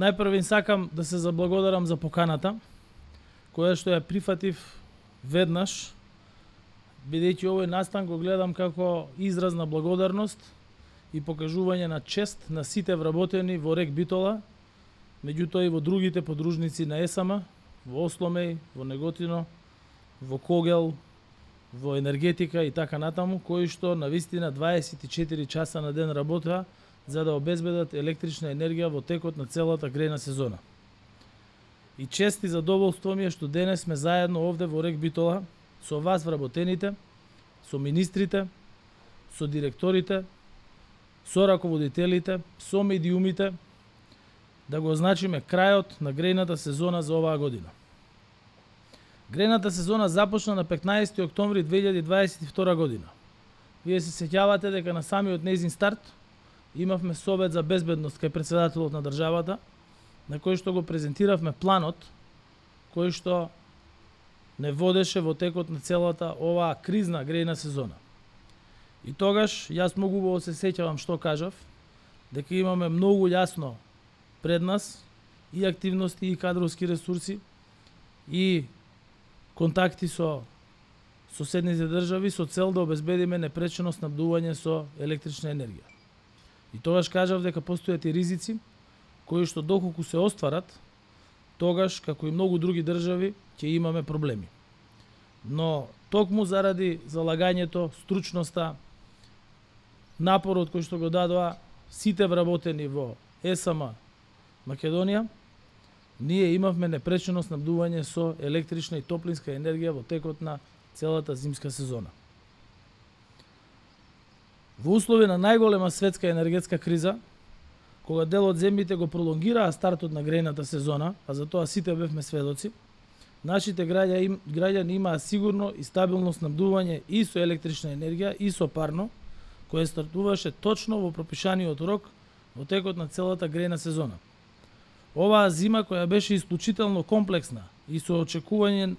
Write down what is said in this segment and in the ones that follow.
Најпрво им сакам да се заблагодарам за поканата, која што ја прифатив веднаш, бидејќи овој настан го гледам како израз на благодарност и покажување на чест на сите вработени во РЕК Битола, меѓутоа и во другите подружници на ЕСАМА, во Осломеј, во Неготино, во Когел, во енергетика и така натаму, кои што навистина 24 часа на ден работеа за да обезбедат електрична енергија во текот на целата грејна сезона. И чест и задоволство ми е што денес сме заедно овде во РЕК Битола со вас вработените, со министрите, со директорите, со раководителите, со медиумите, да го означиме крајот на грејната сезона за оваа година. Грејната сезона започна на 15 октомври 2022 година. Вие се сеќавате дека на самиот нејзин старт имавме совет за безбедност кај претседателот на државата, на кој што го презентиравме планот кој што не водеше во текот на целата оваа кризна грејна сезона. И тогаш јас многу убаво се сеќавам што кажав, дека имаме многу јасно пред нас и активности и кадровски ресурси и контакти со соседните држави со цел да обезбедиме непречено снабдување со електрична енергија. И тогаш кажав дека постојат и ризици кои што доколку се остварат, тогаш како и многу други држави ќе имаме проблеми. Но токму заради залагањето, стручноста, напорот кој што го дадоа сите вработени во ЕСАМА Македонија, ние имавме непречено снабдување со електрична и топлинска енергија во текот на целата зимска сезона. Во услови на најголема светска енергетска криза, кога дел од земјите го пролонгираа стартот на грејната сезона, а за тоа сите бевме сведоци, нашите граѓани имаа сигурно и стабилно снабдување и со електрична енергија и со парно, кое стартуваше точно во пропишаниот рок во текот на целата грејна сезона. Оваа зима која беше исклучително комплексна и со очекување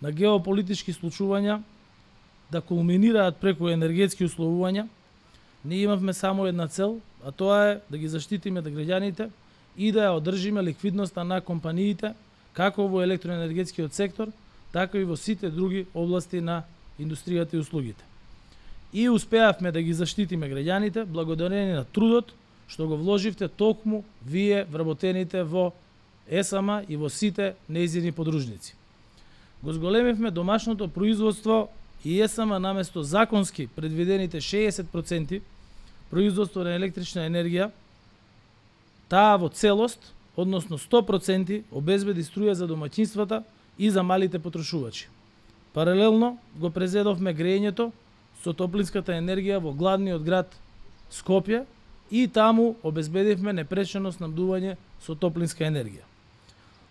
на геополитички случувања да кулминираат преку енергетски условувања, ние имавме само една цел, а тоа е да ги заштитиме граѓаните и да ја одржиме ликвидноста на компаниите, како во електроенергетскиот сектор, така и во сите други области на индустријата и услугите. И успеавме да ги заштитиме граѓаните благодарение на трудот што го вложивте токму вие вработените во ЕСАМА и во сите нејзини подружници. Го зголемивме домашното производство и ЕСАМА наместо законски предвидените 60% производство на електрична енергија, таа во целост, односно 100% обезбеди струја за домаќинствата и за малите потрошувачи. Паралелно го презедовме грејењето со топлинската енергија во главниот град Скопје и таму обезбедивме непречено снабдување со топлинска енергија.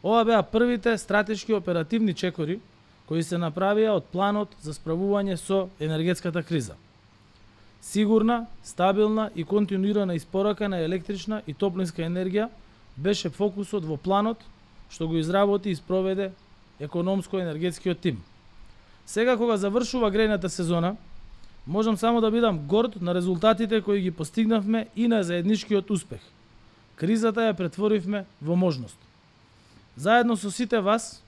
Ова беа првите стратешки оперативни чекори кои се направија од планот за справување со енергетската криза. Сигурна, стабилна и континуирана испорака на електрична и топлинска енергија беше фокусот во планот што го изработи и спроведе економско-енергетскиот тим. Сега кога завршува грејната сезона, можам само да бидам горд на резултатите кои ги постигнавме и на заедничкиот успех. Кризата ја претворивме во можност. Заедно со сите вас,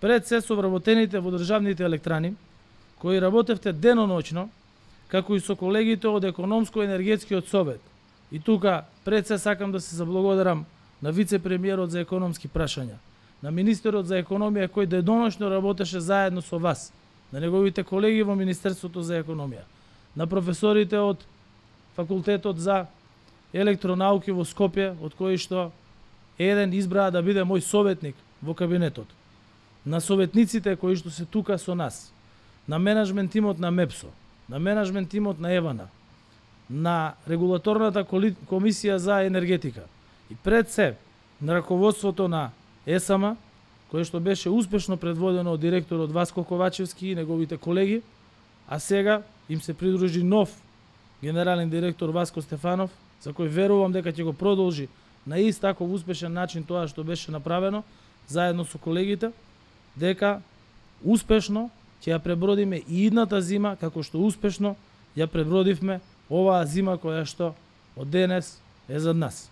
пред се со вработените во државните електрани, кои работевте деноноќно, како и со колегите од Економско-енергетскиот совет. И тука пред се сакам да се заблагодарам на вице-премиерот за економски прашања, на министерот за економија кој деноношно работеше заедно со вас, на неговите колеги во Министерството за економија, на професорите од Факултетот за електронауки во Скопје, од кои што еден избраа да биде мој советник во кабинетот, на советниците кои што се тука со нас, на менеджмент тимот на МЕПСО, на менеджмент тимот на ЕВАНА, на регулаторната комисија за енергетика и пред се на раководството на ЕСАМА, кое што беше успешно предводено од директорот Васко Ковачевски и неговите колеги, а сега им се придружи нов генерален директор Васко Стефанов, за кој верувам дека ќе го продолжи на ист таков успешен начин тоа што беше направено, заедно со колегите, дека успешно ќе ја пребродиме и идната зима, како што успешно ја пребродивме оваа зима која што од денес е зад нас.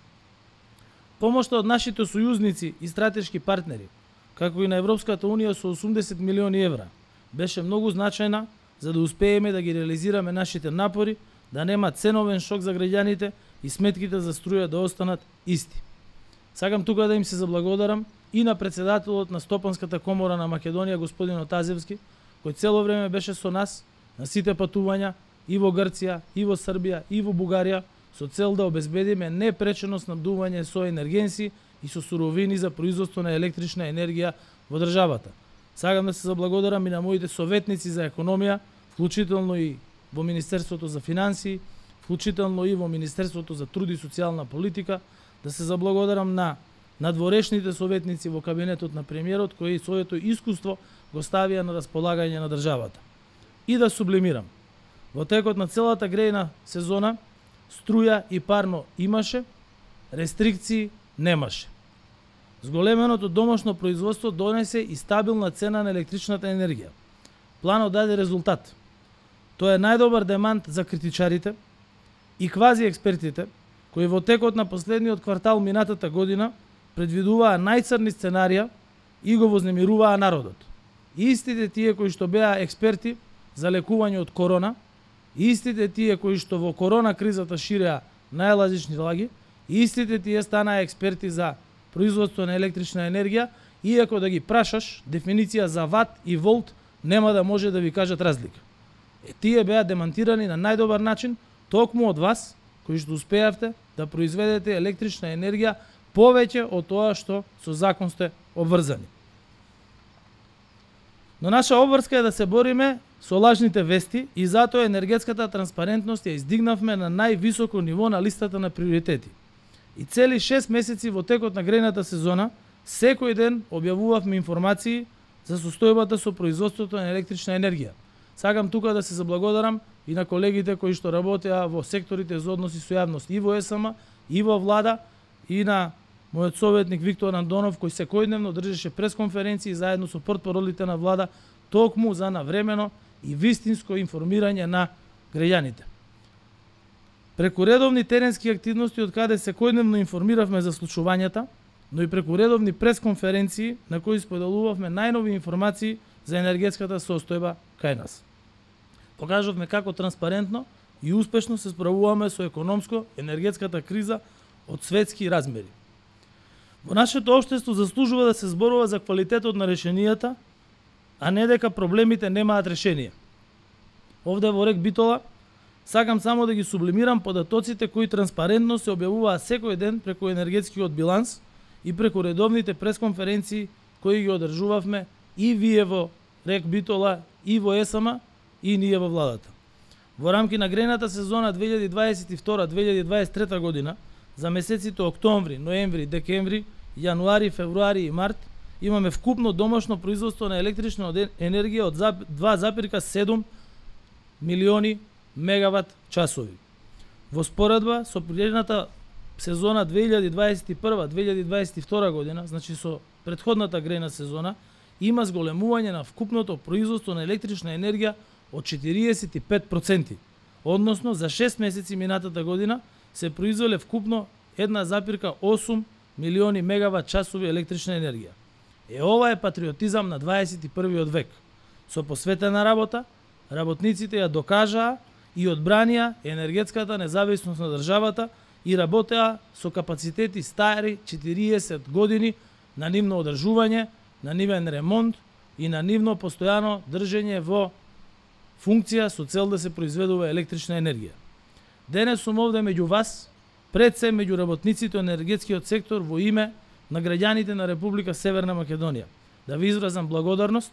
Помошта од нашите сојузници и стратешки партнери, како и на Европската Унија со 80 милиони евра, беше многу значајна за да успееме да ги реализираме нашите напори, да нема ценовен шок за граѓаните и сметките за струја да останат исти. Сакам тука да им се заблагодарам и на председателот на Стопанската комора на Македонија, господин Отазевски, кој цело време беше со нас на сите патувања и во Грција, и во Србија, и во Бугарија, со цел да обезбедиме непречено снабдување со енергенси и со суровини за производство на електрична енергија во државата. Сакам да се заблагодарам и на моите советници за економија, вклучително и во Министерството за финансии, вклучително и во Министерството за труд и социјална политика, да се заблагодарам на надворешните советници во кабинетот на премиерот кои своето искуство го ставија на располагање на државата. И да сублимирам. Во текот на целата грејна сезона струја и парно имаше, рестрикции немаше. Зголеменото домашно производство донесе и стабилна цена на електричната енергија. Планот даде резултат. Тоа е најдобар демант за критичарите и квази експертите, кои во текот на последниот квартал минатата година предвидуваа најцрни сценарија и го вознемируваа народот. Истите тие кои што беа експерти за лекување од корона, истите тие кои што во корона кризата ширеа најлазични лаги, истите тие станаа експерти за производство на електрична енергија, иако да ги прашаш дефиниција за ват и волт, нема да може да ви кажат разлика. Тие беа демантирани на најдобар начин токму од вас, кои што успеавте да произведете електрична енергија повеќе од тоа што со закон сте обврзани. Но наша обврска е да се бориме со лажните вести и затоа енергетската транспарентност ја издигнавме на највисоко ниво на листата на приоритети. И цели 6 месеци во текот на грејната сезона, секој ден објавувавме информации за состојбата со производството на електрична енергија. Сакам тука да се заблагодарам и на колегите кои што работеа во секторите за односи со јавност и во ЕСМ, и во влада, и на мојот советник Виктор Андонов, кој секојдневно држеше пресконференции заедно со портпаролите на влада, токму за навремено и вистинско информирање на граѓаните. Преку редовни теренски активности од каде секојдневно информиравме за случувањата, но и преку редовни пресконференции на кои споделувавме најнови информации за енергетската состојба кај нас. Покажавме како транспарентно и успешно се справуваме со економско-енергетската криза од светски размери. Во нашето општество заслужува да се зборува за квалитетот на решенијата, а не дека проблемите немаат решение. Овде во Рек Битола сакам само да ги сублимирам податоците кои транспарентно се објавуваат секој ден преку енергетскиот биланс и преку редовните пресконференции кои ги одржувавме и вие во Рек Битола, и во ЕСМ, и ние во владата. Во рамки на грејната сезона 2022-2023 година, за месеците октомври, ноември, декември, јануари, февруари и март, имаме вкупно домашно производство на електрична енергија од 2,7 милиони мегават часови. Во споредба со предната сезона 2021-2022 година, значи со претходната грејна сезона, има зголемување на вкупното производство на електрична енергија од 45%, односно за 6 месеци минатата година се произвеле вкупно 1,8 милиони мегават часови електрична енергија. Ова е патриотизам на 21. век. Со посветена работа, работниците ја докажаа и одбранија енергетската независност на државата и работеа со капацитети стари 40 години на нивно одржување, на нивен ремонт и на нивно постојано држење во функција со цел да се произведува електрична енергија. Денес сум овде меѓу вас, пред се меѓу работниците од енергетскиот сектор во име на граѓаните на Република Северна Македонија, да ви изразам благодарност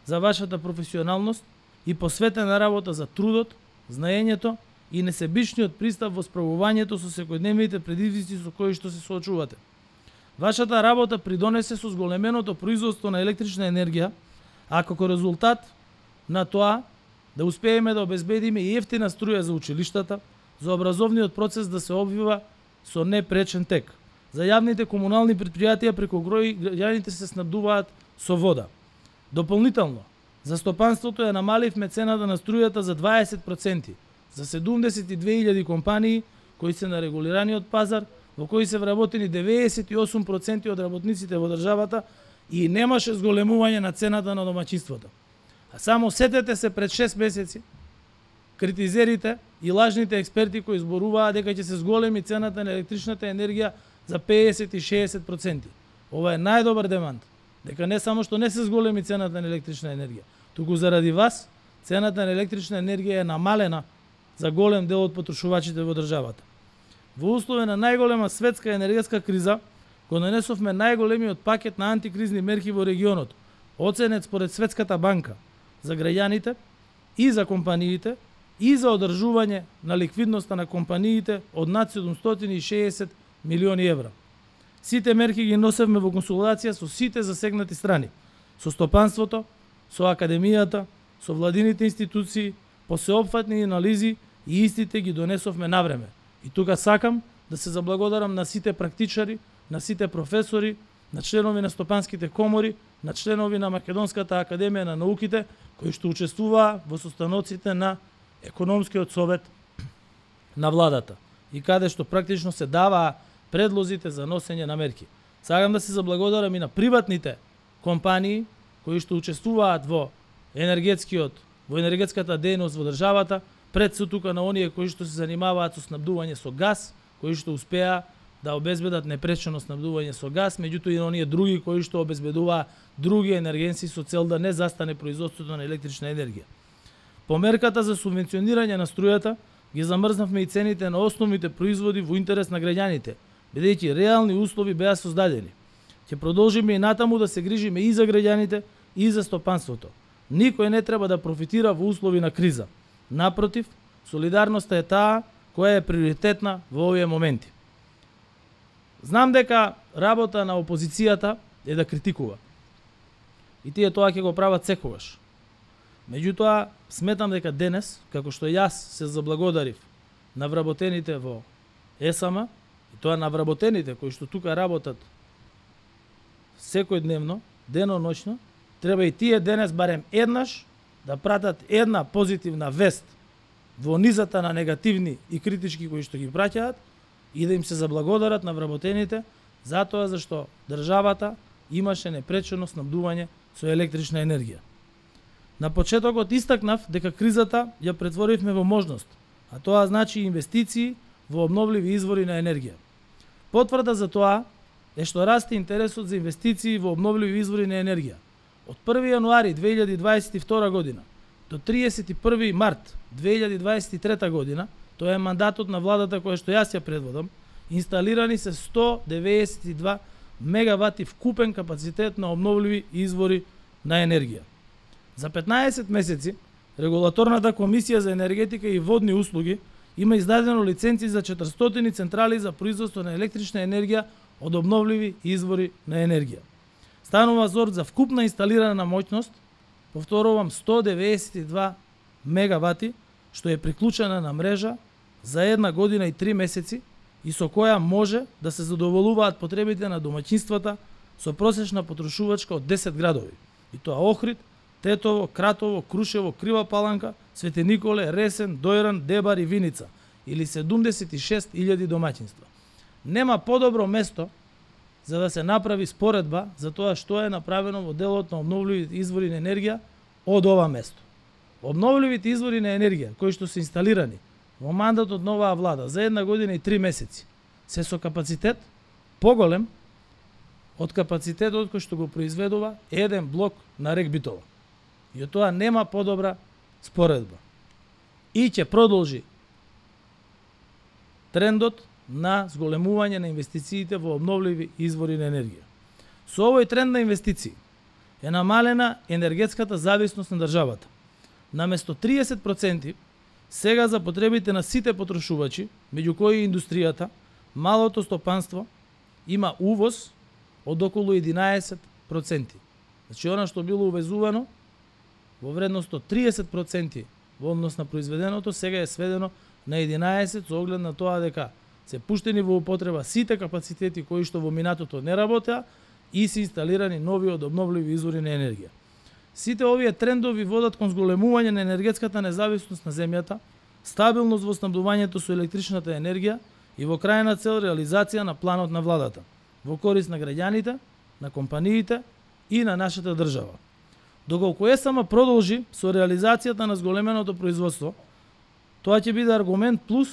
за вашата професионалност и посветена работа за трудот, знаењето и несебичниот пристап во справувањето со секојдневните предизвици со кои што се соочувате. Вашата работа придонесе со зголеменото производство на електрична енергија, а како резултат на тоа да успееме да обезбедиме и ефтина струја за училиштата, за образовниот процес да се обвива со непречен тек. За јавните комунални предпријатија преку кои граѓаните се снабдуваат со вода. Дополнително, за стопанството ја намаливме цената на струјата за 20%, за 72.000 компании кои се на регулираниот пазар, во кои се вработени 98% од работниците во државата и немаше зголемување на цената на домаќинството. А само сетете се пред 6 месеци критизерите и лажните експерти кои зборуваа дека ќе се зголеми цената на електричната енергија за 50 и 60%. Ова е најдобар демант, дека не само што не се зголеми цената на електрична енергија, туку заради вас цената на електрична енергија е намалена за голем дел од потрошувачите во државата. Во услови на најголема светска енергетска криза, го нанесовме најголемиот пакет на антикризни мерки во регионот, оценет според Светската банка за граѓаните и за компаниите и за одржување на ликвидноста на компаниите од над 760 милиони евра. Сите мерки ги носевме во консултација со сите засегнати страни, со стопанството, со академијата, со владините институции, по сеопфатни анализи и истите ги донесовме навреме. И тука сакам да се заблагодарам на сите практичари, на сите професори, на членови на стопанските комори, на членови на Македонската академија на науките, кои што учествуваа во состаноците на економскиот совет на владата и каде што практично се даваа предлозите за носење на мерки. Сакам да се заблагодарам и на приватните компании кои што учествуваат во енергетската дејност во државата, пред се тука на оние кои што се занимаваат со снабдување со газ, кои што успеа да обезбедат непречено снабдување со газ, меѓутоа и на оние други кои што обезбедуваа други енергенси со цел да не застане производството на електрична енергија. По мерката за субвенционирање на струјата ги замрзнавме и цените на основните производи во интерес на граѓаните, бидејќи реални услови беа создадени. Ќе продолжиме и натаму да се грижиме и за граѓаните и за стопанството. Никој не треба да профитира во услови на криза. Напротив, солидарноста е таа која е приоритетна во овие моменти. Знам дека работа на опозицијата е да критикува. И тие тоа ќе го прават секогаш. Меѓутоа, сметам дека денес, како што јас се заблагодарив на вработените во ЕСАМА, и тоа на вработените кои што тука работат секојдневно, дено-ноќно, треба и тие денес барем еднаш да пратат една позитивна вест во низата на негативни и критички кои што ги праќаат и да им се заблагодарат на вработените затоа зашто државата имаше непречено снабдување со електрична енергија. На почетокот истакнав дека кризата ја претворивме во можност, а тоа значи инвестиции во обновливи извори на енергија. Потврда за тоа е што расте интересот за инвестиции во обновливи извори на енергија. Од 1 јануари 2022 година до 31 март 2023 година, тоа е мандатот на владата која што јас ја предводам, инсталирани се 192 мегавати вкупен капацитет на обновливи извори на енергија. За 15 месеци, Регулаторната комисија за енергетика и водни услуги има издадено лиценци за 400 централи за производство на електрична енергија од обновливи извори на енергија. Станува збор за вкупна инсталирана моќност, повторувам 192 мегавати, што е приклучена на мрежа за 1 година и 3 месеци и со која може да се задоволуваат потребите на домаќинствата со просечна потрошувачка од 10 градови. И тоа Охрид, Тетово, Кратово, Крушево, Крива Паланка, Свети Николе, Ресен, Дојран, Дебар и Виница, или 76.000 домаќинства. Нема подобро место за да се направи споредба за тоа што е направено во делот на обновливите извори на енергија од ова место. Обновливите извори на енергија кои што се инсталирани во мандатот на оваа влада за 1 година и 3 месеци се со капацитет поголем од капацитетот кој што го произведува еден блок на рек Битола. И од тоа нема подобра споредба. И ќе продолжи трендот на зголемување на инвестициите во обновливи извори на енергија. Со овој тренд на инвестиции е намалена енергетската зависност на државата. Наместо 30% сега за потребите на сите потрошувачи, меѓу кои индустријата, малото стопанство има увоз од околу 11%. Значи, она што било увезувано во вредност од 30% во однос на произведеното, сега е сведено на 11% со оглед на тоа дека се пуштени во употреба сите капацитети кои што во минатото не работеа и се инсталирани нови од обновливи извори на енергија. Сите овие трендови водат кон зголемување на енергетската независност на земјата, стабилност во снабдувањето со електричната енергија и во крајна цел реализација на планот на владата, во корист на граѓаните, на компаниите и на нашата држава. Доколку ЕСМ продолжи со реализацијата на зголеменото производство, тоа ќе биде аргумент плюс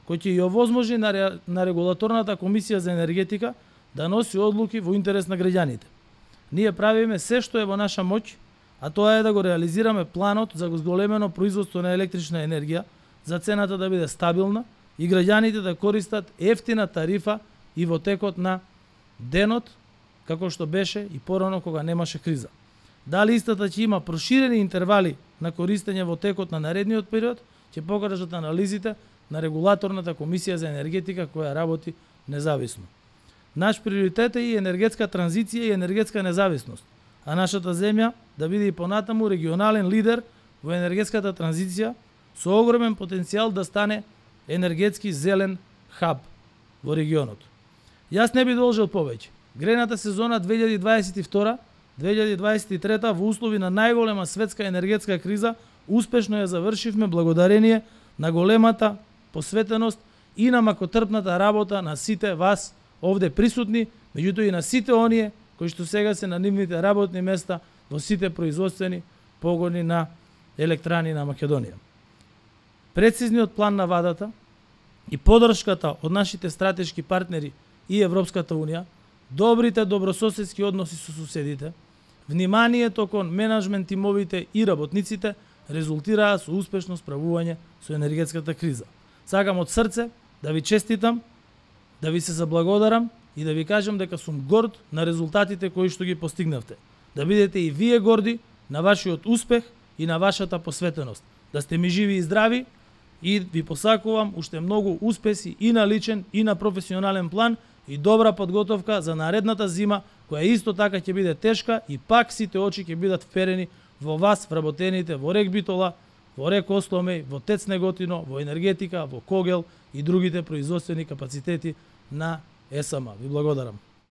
кој ќе ја овозможи на регулаторната комисија за енергетика да носи одлуки во интерес на граѓаните. Ние правиме се што е во наша моќ, а тоа е да го реализираме планот за зголемено производство на електрична енергија, за цената да биде стабилна и граѓаните да користат ефтина тарифа и во текот на денот, како што беше и порано кога немаше криза. Дали истата ќе има проширени интервали на користење во текот на наредниот период, ќе покажат анализите на регулаторната комисија за енергетика која работи независно. Наш приоритет е и енергетска транзиција и енергетска независност, а нашата земја да биде и понатаму регионален лидер во енергетската транзиција со огромен потенцијал да стане енергетски зелен хаб во регионот. Јас не би должел повеќе. Грејната сезона 2022-2023 во услови на најголема светска енергетска криза успешно ја завршивме благодарение на големата посветеност и на макотрпната работа на сите вас овде присутни, меѓутоа и на сите оние кои што сега се на нивните работни места во сите производствени погони на електрани на Македонија. Прецизниот план на владата и поддршката од нашите стратешки партнери и Европската Унија, добрите добрососедски односи со суседите, вниманието кон менаджмент тимовите и работниците резултираа со успешно справување со енергетската криза. Сакам од срце да ви честитам, да ви се заблагодарам и да ви кажам дека сум горд на резултатите кои што ги постигнавте. Да бидете и вие горди на вашиот успех и на вашата посветеност. Да сте ми живи и здрави и ви посакувам уште многу успеси и на личен и на професионален план и добра подготовка за наредната зима, која исто така ќе биде тешка и пак сите очи ќе бидат вперени во вас вработените во РЕК Битола, во РЕК Осломеј, во ТЕЦ Неготино, во енергетика, во Когел и другите производствени капацитети на ЕСМ. Ви благодарам.